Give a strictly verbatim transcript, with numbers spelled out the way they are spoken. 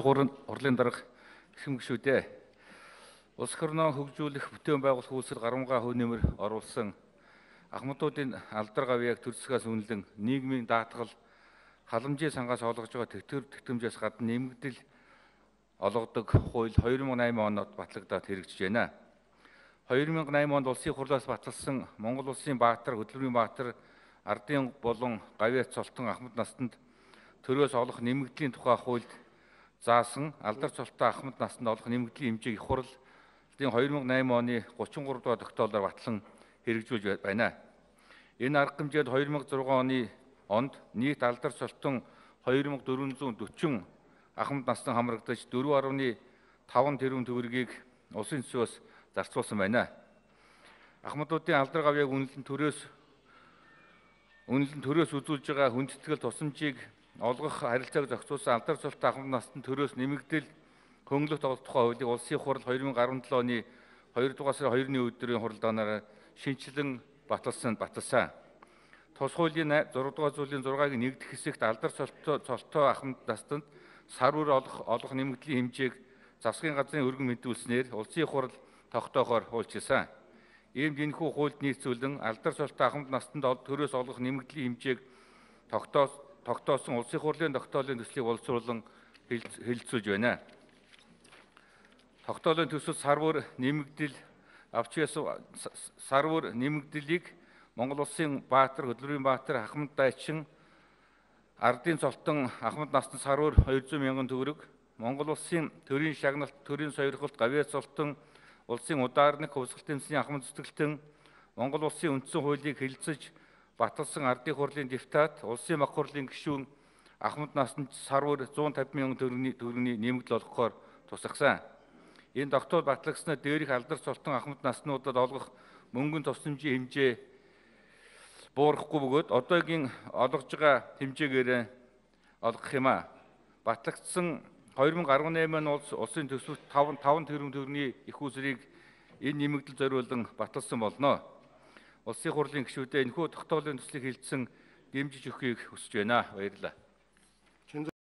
Хурлын дарга хэм гишүүдээ улс орноо хөгжүүлэх бүтээн байгуулах үүсэл гарамгаа хөв нэмэр оруулсан ахмадуудын алдар гавьяаг төрөлсгөөс үнэлэн нийгмийн даатгал халамжийн сангаас олгож байгаа тэтгэр тэгтэмжээс гадна нэмэгдэл олгодог хууль хоёр мың найман онд батлагдаад хэрэгжиж байна. хоёр мың найман онд улсын хурлаас баталсан Монгол улсын баатар, хөдөлмөрийн баатар, ардын болон гавьяат цолтон ахмад настанд төрөөс олох нэмэгдлийн тухай хуульд заасан алдар цолтой ахмад настанд олох нэмэгдлийн хэмжээг их хурлын хоёр мың найман оны гучин гурав дахь тогтоолоор батлан хэрэгжүүлж байна. Энэ арга хэмжээд хоёр мың зургаан оны онд нийт алдар цолтон хоёр мың дөрвөн зуун дөрвөн ахмад настан хамрагдаж дөрвөн гаруй таван тэрбум төгрөгийг улсын төсвөөс зарцуулсан байна. Ахмадуудын алдар гавьяаг үнэлэн төрөөс үнэлэн төрөөс үзүүлж байгаа хүндэтгэл тусламжийг олгох харилцааг зохицуулсан алдар цолтой ахмад настанд төрөөс нэмэгдэл хөнгөлөх тоглох тухай хуулийг улсын хурал хоёр мың арван долоо оны хоёр дугаар сарын хоёрны өдрийн хуралдаанаар шинчлэн баталсан баталсан. Тус хуулийн зураг дугаар зүйлийн зургааг нэгдэх хэсэгт алдар цолтой цолтой ахмад настанд сар бүр олох олох нэмэгдлийн хэмжээг засгийн газрын өргөн мэдүүлснээр улсын хурал тогтоохоор хуульчилсан. Иймд энэхүү хуульд нийцүүлэн алдар цолтой ахмад настанд төрөөс олох нэмэгдлийн хэмжээг тогтоос тогтоосон улсын хурлын тогтоолын төслийг боловсруулан хэлэлцүүлж байна. Тогтоолын төсөл сар бүр нэмэгдэл авч ясан сар бүр нэмэгдлийг Монгол улсын баатар, хөдөлмөрийн баатар, ахмад дайчин, ардын цолтон ахмад настанд сар бүр хоёр зуун мянган төгрөг, Монгол улсын төрийн шагналт, төрийн сойрхолт, гавьяат цолтон, улсын удаарник, хувьсгалт эмсний ахмад зүтгэлтэн, Монгол улсын үндсэн хуулийг хэлэлцэж баталсан ардын хурлын депутат, улсын мах хурлын гишүүн ахмад настанд сар бүр зуун тавин мянган төгрөгийн нэмэгдэл олгохоор тусгасан. Энэ тогтоол батлагдсанаар дээрх алдар цолтон ахмад наснуудад олгох мөнгөний тусламжийн хэмжээ буурахгүй бөгөөд одоогийн олгож байгаа хэмжээгээр олгох юм а. Батлагдсан хоёр мың арван найман улс улсын төсөвт таван тэрбум төгрөгийн их усрыг энэ нэмэгдэл зориулан баталсан болно. Улсын хурлын гишүүдээ энэхүү тогтоолын төслийг хэлэлцэн дэмжиж өгөхийг хүсэж байна. Баярлалаа.